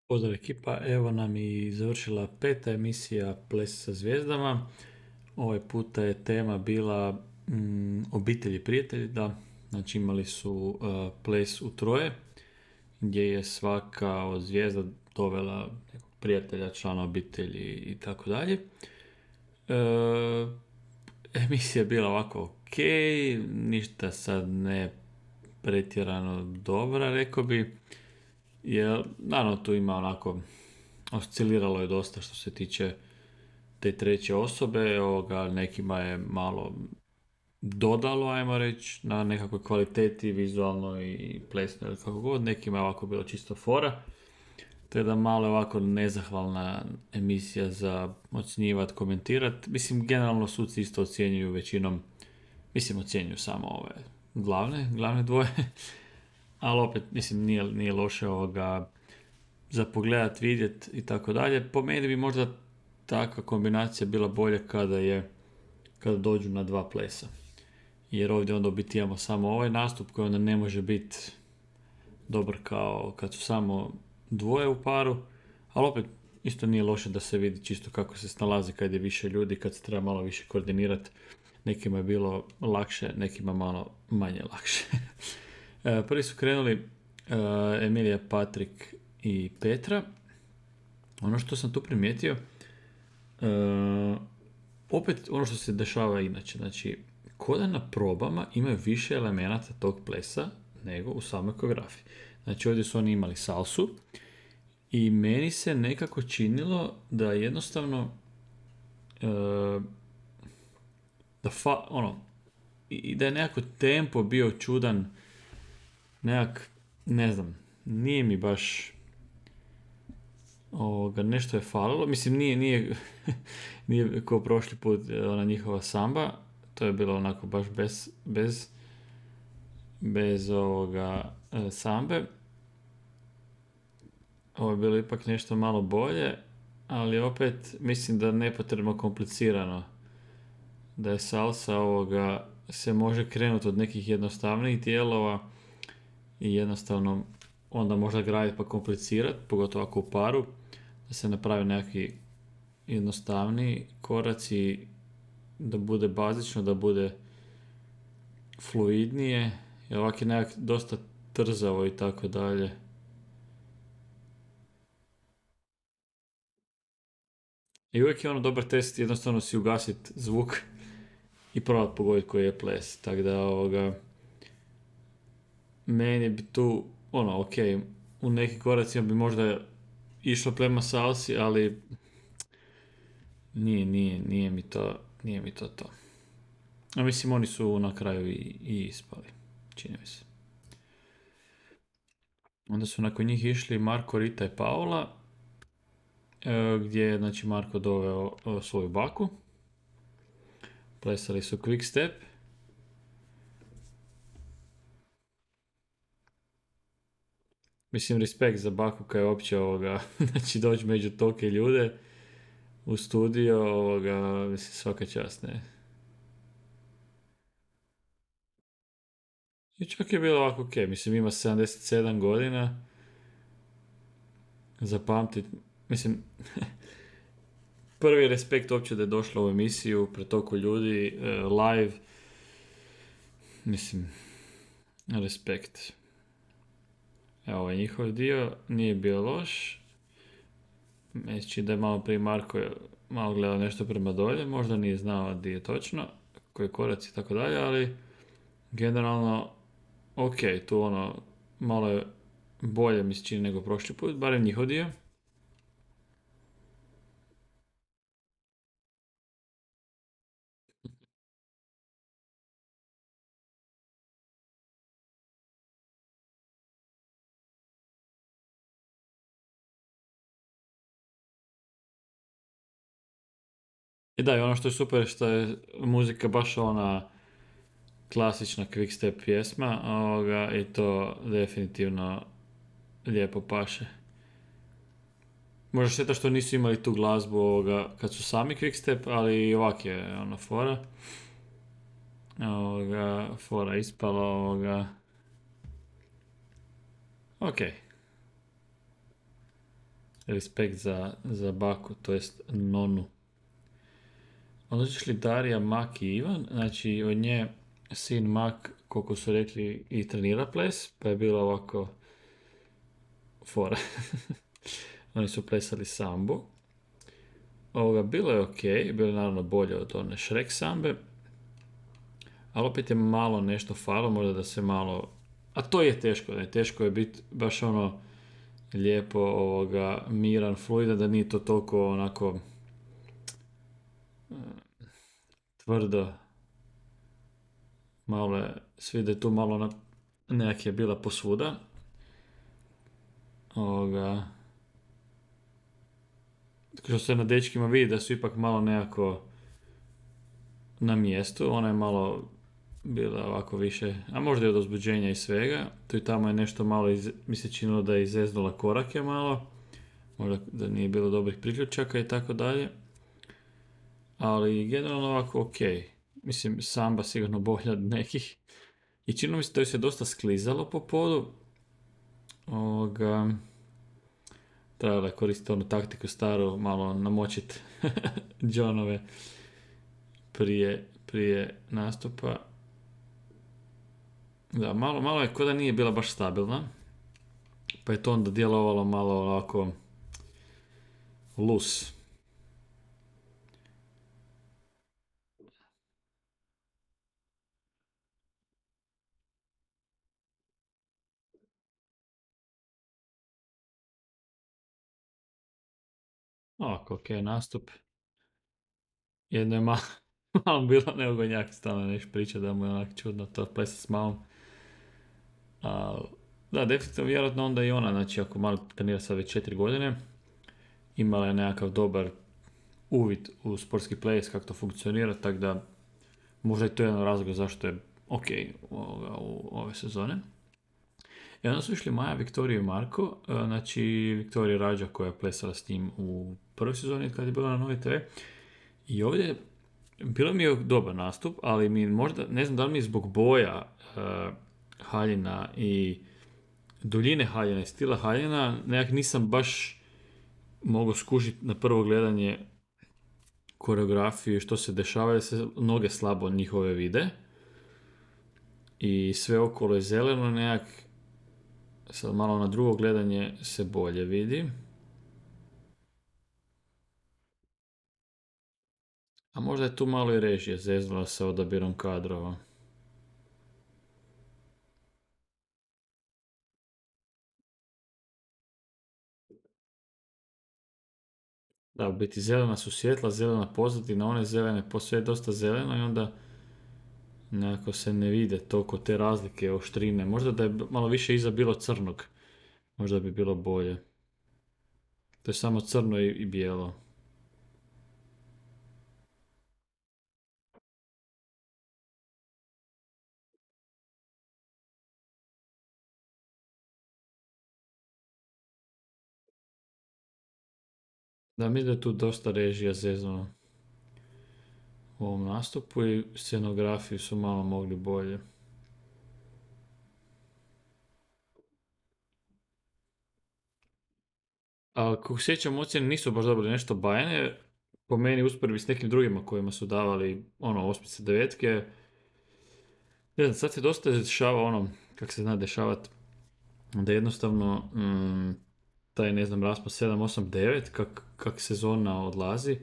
Pozdrav ekipa, evo nam i završila peta emisija Ples sa zvijezdama. Ovaj puta je tema bila obitelj i prijatelji, da. Znači imali su ples u troje, gdje je svaka od zvijezda dovela nekog prijatelja, člana obitelji i tako dalje. Emisija je bila ovako ok, ništa sad ne pretjerano dobra, rekao bi. Jer, naravno, tu ima onako, osciliralo je dosta što se tiče te treće osobe, nekima je malo dodalo, ajmo reći, na nekakvoj kvaliteti vizualno i plesno ili kako god, nekima je ovako bilo čisto fora, te da malo je ovako nezahvalna emisija za ocjenjivat, komentirat. Mislim, generalno suci isto ocjenjuju većinom, mislim, ocjenjuju samo ove glavne dvoje, ali opet, mislim, nije loše za pogledat, vidjet i tako dalje. Po meni bi možda takva kombinacija bila bolja kada dođu na dva plesa. Jer ovdje onda u biti imamo samo ovaj nastup koji onda ne može biti dobar kao kad su samo dvoje u paru, ali opet isto nije loše da se vidi čisto kako se snalazi kad je više ljudi, kad se treba malo više koordinirati. Nekima je bilo lakše, nekima malo manje lakše. Prvi su krenuli Emilija, Patrik i Petra. Ono što sam tu primijetio, opet ono što se dešava inače, znači, ko da na probama imaju više elemenata tog plesa nego u samoj koreografiji. Znači, ovdje su oni imali salsu i meni se nekako činilo da jednostavno i da je nekako tempo bio čudan, ne znam, nije mi baš nešto je falilo. Mislim, nije nije kao prošli put ona njihova samba, to je bilo onako baš bez sambe. Ovo je bilo ipak nešto malo bolje, ali opet mislim da nepotrebno komplicirano, da je salsa se može krenuti od nekih jednostavnijih dijelova i jednostavno onda možda graditi pa komplicirati, pogotovo ako u paru, da se napravi nekakvi jednostavniji koraci, da bude bazično, da bude fluidnije, jer ovak je nekak dosta trzavo i tako dalje. I uvijek je ono dobar test jednostavno si ugasit zvuk i probat pogoditi koji je ples. Tako da meni bi tu ok, u nekim koracima bi možda išlo prema salsi, ali nije mi to to. A mislim, oni su na kraju i ispali, čini mi se. Onda su nakon njih išli Marko, Rita i Paula, gdje je, znači, Marko doveo svoju baku. Plesali su quick step. Mislim, respekt za baku kaj je uopće znači, doći među tolike ljude u studio, mislim, svaka čast, ne. I čak je bilo ovako ok, mislim, ima 77 godina, zapamtit, mislim, prvi respekt uopće da je došla u emisiju pred toliko ljudi, live, mislim, respekt. Evo, ovaj njihov dio nije bio loš. Mislim da je malo prije Marko malo gledao nešto prema dolje, možda nije znao gdje je točno, koji koraci i tako dalje, ali generalno ok, tu malo je bolje mi se čini nego prošli put, barem njihov dio. I da, i ono što je super što je muzika baš ona klasična quickstep pjesma, i to definitivno lijepo paše. Možda šteta što nisu imali tu glazbu kad su sami quickstep, ali i ovak je fora. Fora ispala Ok. Respekt za baku, to jest nonu. Onda su išli Darija, Mak i Ivan, znači od nje sin Mak, koliko su rekli, i trenira ples, pa je bilo ovako fora. Oni su plesali sambu. Bilo je ok, bilo je naravno bolje od one Shrek sambe, ali opet je malo nešto falo, možda da se malo... A to je teško, ne? Teško je biti baš ono lijepo miran, fluidan, da nije to toliko onako tvrdo. Malo je, svi da je tu malo nekak je bila posvuda. Ovoga, što se na dečkima vidi da su ipak malo nekako na mjestu, ona je malo bila ovako više, a možda i od uzbuđenja i svega. Tu i tamo je nešto malo, mi se činilo da je izeznula korake malo, možda da nije bilo dobrih priključaka i tako dalje. Ali generalno ovako ok. Mislim, samba sigurno bolja od nekih. I činilo mi se da joj se dosta sklizalo po podu. Trebalo je koristiti onu taktiku staru, malo namočiti Johnove prije nastupa. Da, malo je ko da nije bila baš stabilna. Pa je to onda djelovalo malo ovako loose. Ovako, ok, nastup. Jedno je malo bilo neugodnjak, stalno nešto priča da mu je onak čudno to plesa s malom. Da, definitivno vjerojatno onda i ona, znači ako malo trenira sad već 4 godine, imala je nekakav dobar uvid u sportski ples, kako to funkcionira, tako da možda je to jedan razlog zašto je ok u ove sezone. I onda su išli Maja, Viktorija i Marko, znači Viktorija Rađa koja je plesala s njim u prvoj sezoni kad je bila na Novi TV. I ovdje bilo mi je dobar nastup, ali mi možda, ne znam da li mi zbog boja haljina i duljine haljina i stila haljina, nekak nisam baš mogao skužiti na prvo gledanje koreografiju što se dešava, jer se noge slabo njihove vide. I sve okolo je zeleno, nekak sad malo na drugo gledanje se bolje vidi. A možda je tu malo i režija zeznula sa odabirom kadrova. Da, u biti zelena su svjetla, zelena pozadina, one zelene, sve je dosta zeleno i onda nekako se ne vide toliko te razlike, oštrine. Možda da je malo više iza bilo crnog, možda bi bilo bolje. To je samo crno i bijelo. Da, mi da je tu dosta režija zeznula u ovom nastupu i scenografiju su malo mogli bolje. A kako sjećam, ocjene nisu baš dobili nešto bajane. Po meni usporedbi s nekim drugima kojima su davali osmice, devetke. Ne znam, sad se dosta dešava kako se zna dešavati, da jednostavno taj, ne znam, raspon 7, 8, 9, kak sezona odlazi,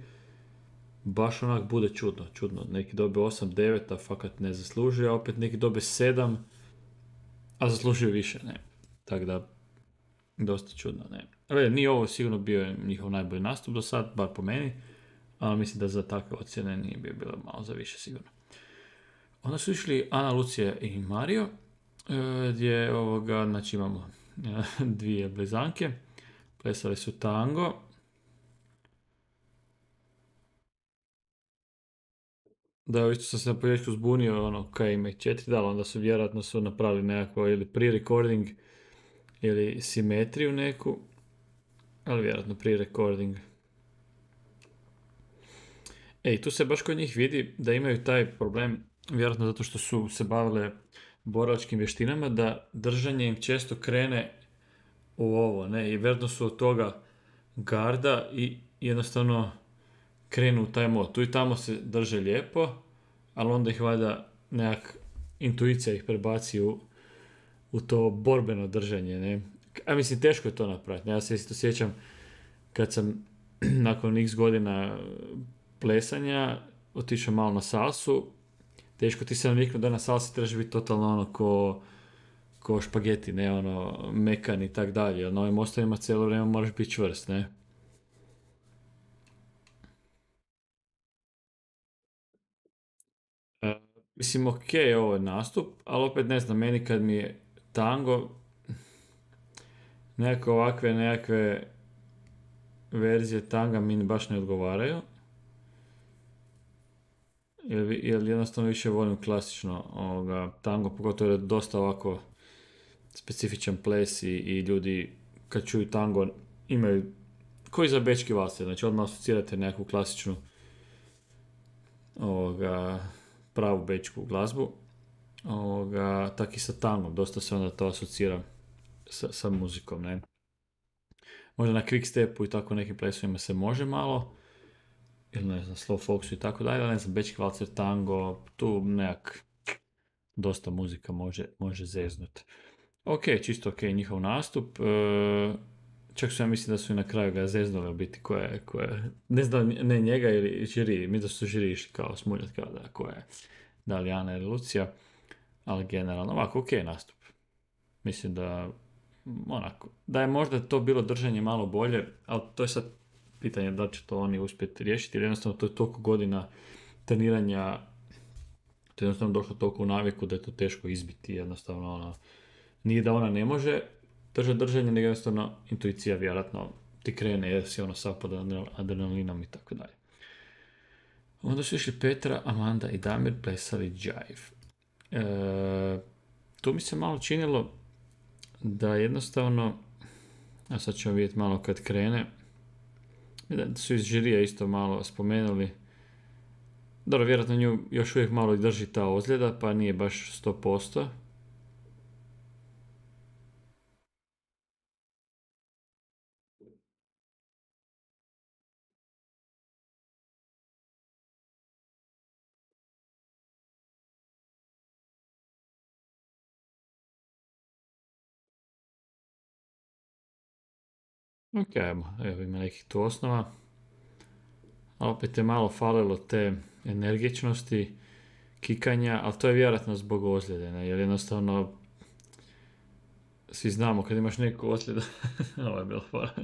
baš onak bude čudno. Neki dobe 8, 9, a fakat ne zaslužuje, a opet neki dobe 7, a zaslužuju više, ne. Tako da, dosta čudno, ne. Ali nije ovo sigurno bio njihov najbolji nastup do sad, bar po meni, ali mislim da za takve ocjene nije bilo malo za više sigurno. Onda su išli Ana, Lucija i Mario, gdje znači imamo dvije blizanke, plesali su tango. Da, isto sam se na početku zbunio, kaj ima ih 4, da, onda su vjerojatno napravili nekako ili pre-recording ili simetriju neku, ali vjerojatno pre-recording. Tu se baš kod njih vidi da imaju taj problem, vjerojatno zato što su se bavile borilačkim vještinama, da držanje im često krene u ovo, ne, i vjerojatno su od toga garda i jednostavno krenu u taj mod. Tu i tamo se drže lijepo, ali onda ih valjda nekak intuicija ih prebaci u to borbeno držanje, ne. A mislim, teško je to napraviti. Ja se isto sjećam kad sam nakon x godina plesanja otišao malo na salsu, teško ti se naviknu da na salsi trebaš biti totalno ono ko špageti, ne ono mekan i tak dalje. Na ovim ostavima cijelo vrijeme moraš biti čvrst, ne. E, Mislim, ok, ovo je nastup, ali opet ne znam, meni kad mi je tango, nekakve verzije tanga mi baš ne odgovaraju. Jer jednostavno više volim klasično tango, pogotovo jer je dosta ovako specifičan ples i ljudi kad čuju tango imaju, koji za bečki valse, znači odmah asocirate nekakvu klasičnu ovoga, pravu bečku glazbu. Tak i sa tangom, dosta se onda to asocira sa muzikom, ne. Možda na quick stepu i tako nekim plesovima se može malo, ili ne znam, slow foxu i tako dalje, ali ne znam, bečki valcer, tango, tu nekak dosta muzika može zeznut. Ok, čisto ok, njihov nastup. Čak su ja mislim da su i na kraju ga zeznuli u biti ne znam, ne njega ili žiri, mi da su žiri išli kao smuljati kao da koja je, da li Ana ili Lucija, ali generalno ovako ok nastup. Mislim da onako, da je možda to bilo držanje malo bolje, ali to je sad pitanje da li će to oni uspjeti riješiti, jer jednostavno to je toliko godina treniranja, to je jednostavno došlo toliko u naviku da je to teško izbiti, jednostavno ono, nije da ona ne može držati držanje, nego jednostavno intuicija vjerojatno ti krene jer si ono sav pod adrenalinom i tako dalje. Onda su išli Petra, Amanda i Damir plesali Jive. Tu mi se malo činilo da jednostavno, a sad ćemo vidjeti malo kad krene, da su iz žirija isto malo spomenuli, dobro, vjerojatno nju još uvijek malo drži ta ozljeda, pa nije baš 100%. Ok, evo ima nekih tu osnova. A opet je malo falilo te energičnosti, kikanja, ali to je vjerojatno zbog ozljede, ne? Jer jednostavno svi znamo kad imaš neku ozljedu, ovo je bilo fora.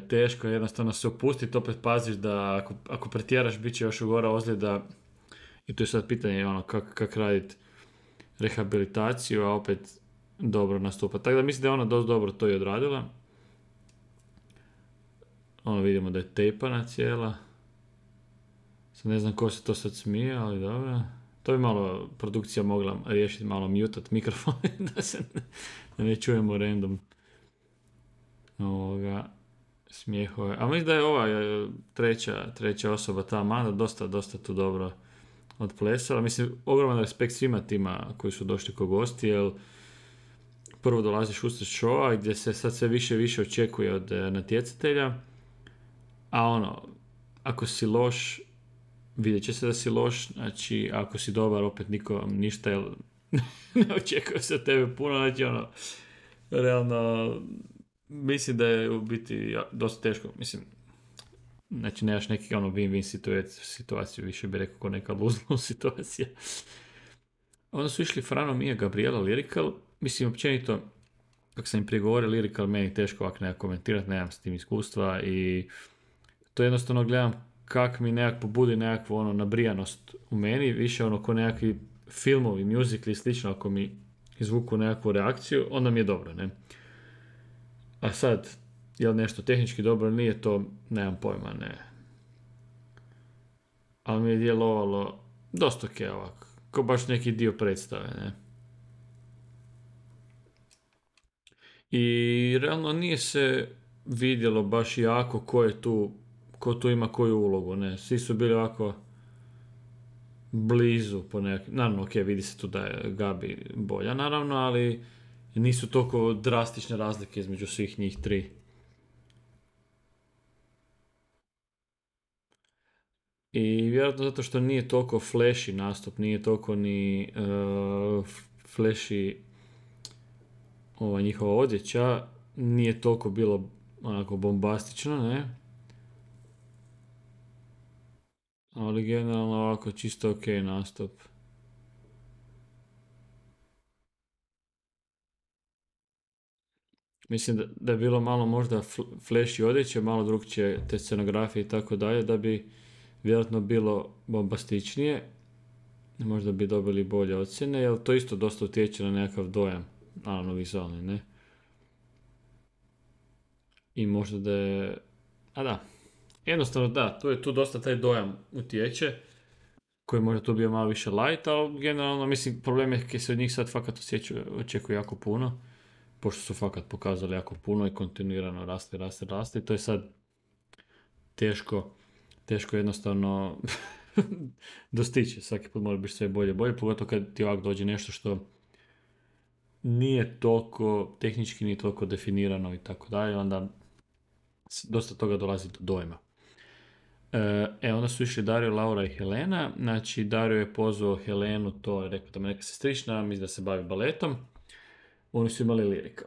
Teško je jednostavno se opustiti, opet paziš da ako pretjeraš bit će još ugora ozljeda i tu je sad pitanje ono, kak raditi rehabilitaciju, a opet dobro nastupa. Tako da mislim da je ona dosta dobro to i odradila. Ono vidimo da je tejpana cijela. Sad ne znam ko se to sad smije, ali dobro. To bi malo produkcija mogla riješiti, malo mutat mikrofon da ne čujemo random smijehove. A mislim da je ova treća osoba, ta Amanda, dosta tu dobro odplesala. Mislim, ogroman respekt svima tima koji su došli ko gosti, jer prvo dolaziš usred showa gdje se sad sve više i više očekuje od natjecatelja, a ono, ako si loš, vidjet će se da si loš, znači ako si dobar opet niko ništa, jer ne očekuje se od tebe puno, znači ono, realno, mislim da je u biti dosta teško, mislim, znači nemaš neki ono win-win situaciju, više bi rekao ko neka lose-lose situacija. Onda su išli Frano, Mija, Gabriela, Lyrical, mislim općenito, kako sam im prije govorio, Lyrical meni teško ovako nekako komentirati, nemam s tim iskustva i to jednostavno gledam kak mi nekak pobudi nekakvu ono nabrijanost u meni, više ono ko nekakvi filmovi, musicali i slično, ako mi izvuku nekakvu reakciju, onda mi je dobro, ne. A sad, je li nešto tehnički dobro ili nije, to nemam pojma, ne. Ali mi je djelovalo dosta ok ovako, ko baš neki dio predstave, ne. I realno nije se vidjelo baš jako ko tu ima koju ulogu, ne. Svi su bili ovako blizu po nekim, naravno ok, vidi se tu da je Gabi bolja naravno, ali nisu toliko drastične razlike između svih njih tri. I vjerojatno zato što nije toliko flashy nastup, nije toliko ni flashy ova njihova odjeća, nije toliko bilo onako bombastično, ne? Ali generalno ovako čisto ok nastup. Mislim da je bilo malo možda flashy odjeće, malo drugčije te scenografije i tako dalje, da bi vjerojatno bilo bombastičnije, možda bi dobili bolje ocjene, jer to isto dosta utječe na nekakav dojam, naravno vizualni, ne? I možda da je... A da, jednostavno da, tu dosta taj dojam utječe, koji možda tu bio malo više light, ali generalno, mislim, problem je kad se od njih sad fakat očekuje jako puno, pošto su fakat pokazali jako puno i kontinuirano raste i to je sad teško, teško jednostavno dostići. Svaki put mora biti sve bolje, pogotovo kad ti ovako dođe nešto što nije toliko tehnički, nije toliko definirano i tako dalje, onda dosta toga dolazi do dojma. Onda su išli Dario, Laura i Helena. Znači, Dario je pozvao Helenu, to je rekao da me neka sestrična, mislim da se bavi baletom. Oni su imali lirika.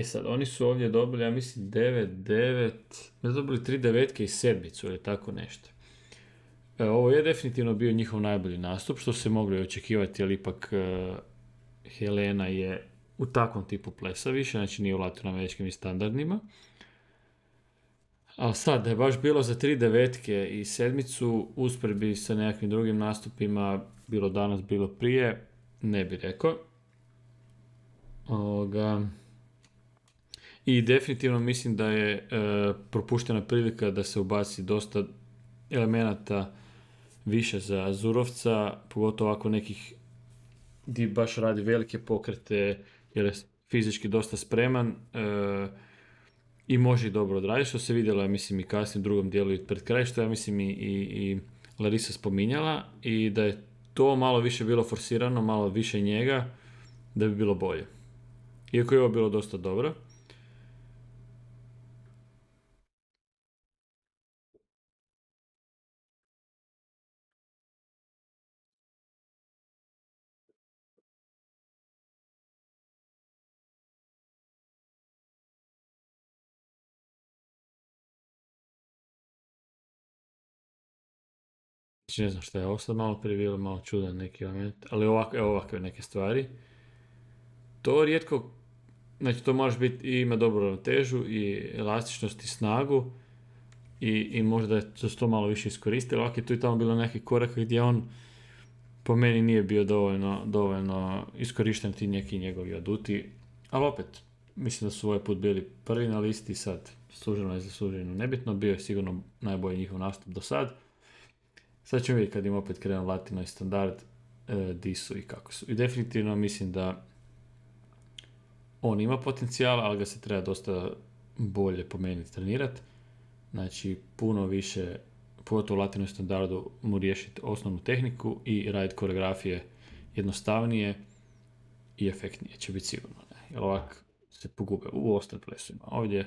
Sad, oni su ovdje dobili, ja mislim, 9, ne dobili 3 devetke i sedmicu ili tako nešto. Ovo je definitivno bio njihov najbolji nastup, što se moglo očekivati, ali ipak Helena je u takvom tipu plesa više, znači nije u latinoameričkim standardima. Ali sad, da je baš bilo za 3 devetke i sedmicu, usporedbi sa nekakvim drugim nastupima, bilo danas, bilo prije, ne bi rekao. I definitivno mislim da je propuštena prilika da se ubaci dosta elemenata više za Azurovca, pogotovo ako nekih di baš radi velike pokrete, jer je fizički dosta spreman i može i dobro odraditi, što se vidjelo, ja mislim, i kasnije u drugom dijelu i pred kraj, što ja mislim i Larisa spominjala, i da je to malo više bilo forsirano, malo više njega, da bi bilo bolje. Iako je ovo bilo dosta dobro. Znači, ne znam šta je ovo sad malo prije bilo, malo čudan neki element, ali ovakve neke stvari. To rijetko, znači to može biti i ima dobru ravnotežu i elastičnost i snagu i možda je to malo više iskoristilo. Ovak je tu i tamo bilo neki korak gdje on po meni nije bio dovoljno iskorišten ti neki njegovi aduti, ali opet, mislim da su ovaj put bili prvi na listi, sad služeno i zasluženo nebitno, bio je sigurno najbolji njihov nastup do sad. Sad ćemo vidjeti kad im opet krenu latino i standard, di su i kako su. I definitivno mislim da on ima potencijala, ali ga se treba dosta bolje po meni trenirati. Znači, puno više, pogotovo u latino standardu, mu riješiti osnovnu tehniku i raditi koreografije jednostavnije i efektnije će biti sigurno. Ne? Jer ovak se pogube u ostalim plesovima. Ovdje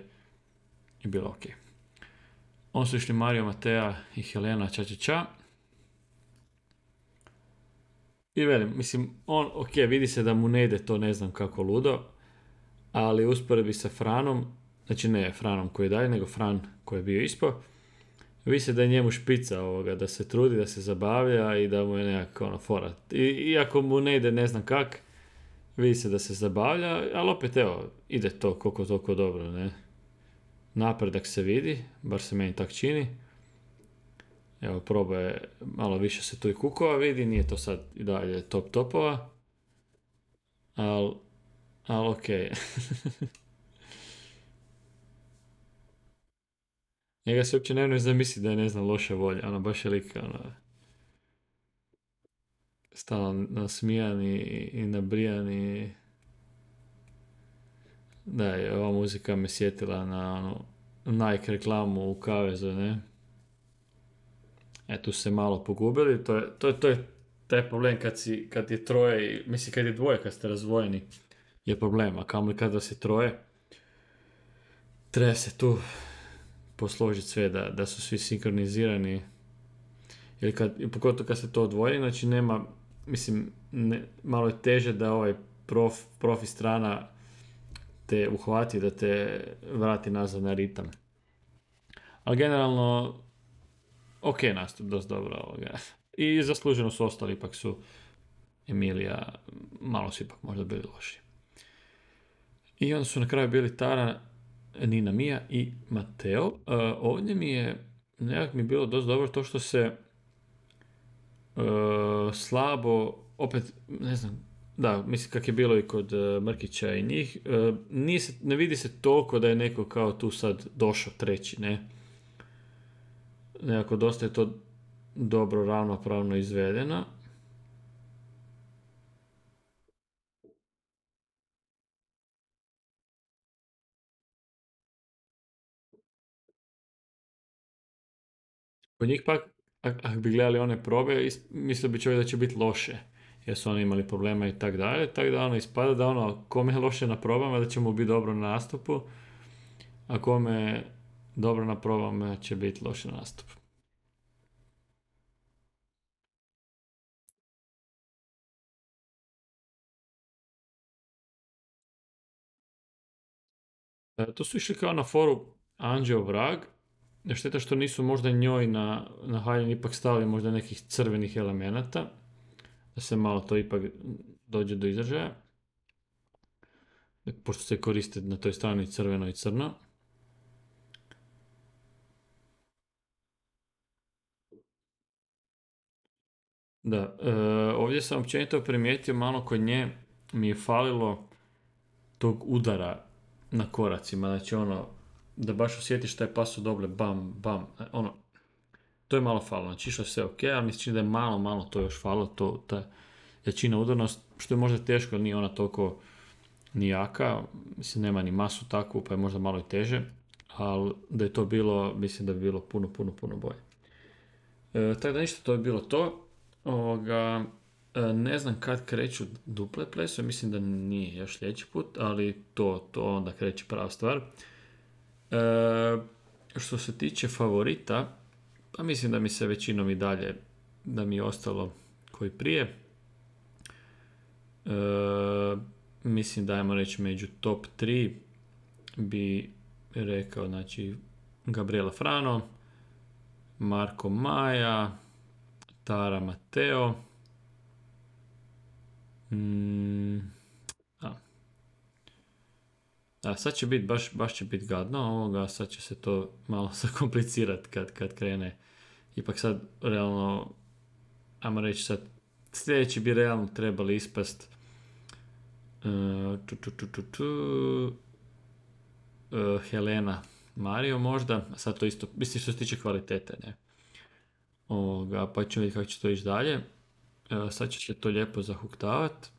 je bilo ok. On su išli Mario, Matea i Helena ča. I velim, mislim, ok, vidi se da mu ne ide to ne znam kako ludo, ali usporedbi sa Franom, znači ne Franom koji je dalje, nego Fran koji je bio ispo, vidi se da je njemu špica ovoga, da se trudi, da se zabavlja i da mu je nekako ono fora. Iako mu ne ide ne znam kak, vidi se da se zabavlja, ali opet evo, ide to koliko toliko dobro, ne. Napredak se vidi, bar se meni tak čini. Evo, probaje, malo više se tu i kukova vidi, nije to sad i dalje top topova, ali ok. Njega se uopće ne zamisli da je, ne znam, loša volja, ono, baš je lik, ono, stalno nasmijan i nabrijan i... Da, i ova muzika me sjetila na, ono, Nike reklamu u kavezu, ne? Tu se malo pogubili, to je taj problem kad je troje, mislim kad je dvoje, kad ste razdvojeni, je problem, a kamoli kada se troje, treba se tu posložiti sve, da su svi sinkronizirani, Jer pogotovo kad se to odvoji, znači nema, mislim, malo je teže da ovaj profi strana te uhvati, da te vrati nazad na ritam. Ali generalno, ok nastup, dosta dobro ovoga. I zasluženo su ostali, ipak su Emilija, malo su ipak možda bili loši. I onda su na kraju bili Tara, Nina Mia i Mateo. Ovdje mi je, nekak mi je bilo dosta dobro to što se slabo, opet, ne znam, da, mislim kak je bilo i kod Mrkića i njih, ne vidi se toliko da je neko kao tu sad došao treći, ne. Nekako dosta je to dobro, ravnopravno izvedeno. Kod njih pak, ako bi gledali one probe, mislio bi čovjek da će biti loše, jer su oni imali problema i tak dalje, tako da ono ispada da ono, kome je loše na probama, da će mu biti dobro na nastupu, a kome je dobro na probama će biti loše na nastupu. To su išli kao na foru Anđeo Vrag, šteta što nisu možda njoj na haljini ipak stavili možda nekih crvenih elemenata, da se malo to ipak dođe do izražaja, pošto se koriste na toj strani crveno i crno. Da, ovdje sam općenito primijetio malo kod nje mi je falilo tog udara na koracima, znači ono, da baš osjetiš taj paso doble, bam, bam, ono, to je malo falilo, znači išlo je sve ok, ali mi se čini da je malo to još falilo, ta jačina udarnost, što je možda teško, nije ona toliko ni jaka, mislim nema ni masu takvu, pa je možda malo i teže, ali da je to bilo, mislim da bi bilo puno bolje. Tako da ništa, to je bilo to. Ne znam kad kreću duple plesove, mislim da nije još sljedeći put, ali to onda kreće prava stvar. Što se tiče favorita, pa mislim da mi se većinom i dalje, da mi je ostalo koji prije. Mislim da ajmo reći među top 3 bi rekao, znači Gabriela Frano, Marko Maja, Tara Mateo. Sad će biti, baš će biti gadno ovoga, sad će se to malo zakomplicirati kad krene. Ipak sad, realno, ajmo reći sad, sljedeći bi realno trebali ispast Helena Mario možda, sad to isto, mislim što se tiče kvalitete, ne. Pa ćemo vidjeti kako će to ići dalje. Sad će se to lijepo zahuktavat.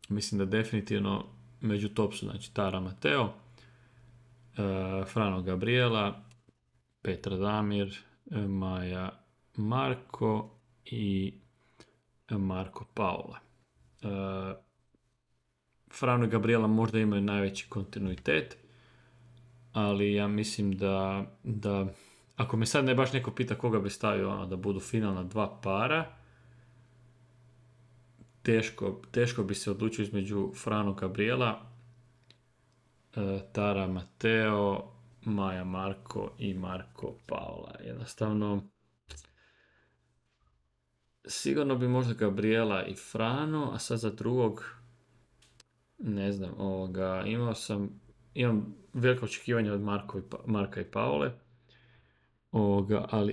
Mislim da definitivno među top su, znači Tara Mateo, Frano Gabriela, Petra Damir, Maja Marko i Marko Paola. Frano i Gabriela možda imaju najveći kontinuitet, ali ja mislim da ako me sad ne baš neko pita koga bi stavio ono, da budu finalna dva para, teško bi se odlučio između Frano Gabriela, Tara Mateo, Maja Marko i Marko Paola. Jednostavno, sigurno bi možda Gabriela i Frano, a sad za drugog, ne znam, imam veliko očekivanje od Marka i Paole,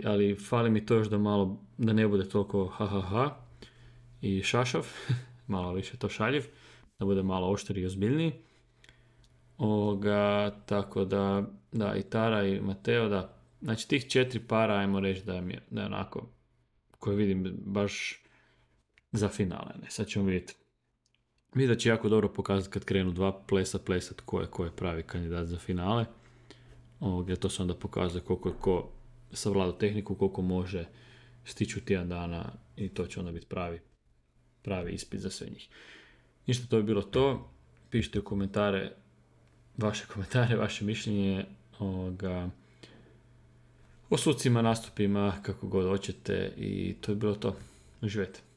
ali fali mi to još da malo, da ne bude toliko ha i šašav, malo više to šaljiv, da bude malo oštriji i ozbiljniji. Tako da i Tara i Mateo, da, znači tih 4 para, ajmo reći da je onako, koje vidim baš za finale, ne, sad ćemo vidjeti. Vidim da će jako dobro pokazati kad krenu dva plesat ko je pravi kandidat za finale. To se onda pokazuje koliko je ko savladao tehniku, koliko može stići u tjedan dana i to će onda biti pravi ispit za sve njih. Ništa, to je bilo to. Pišite u vaše komentare, vaše mišljenje o sucima, nastupima, kako god hoćete i to je bilo to. Uživajte.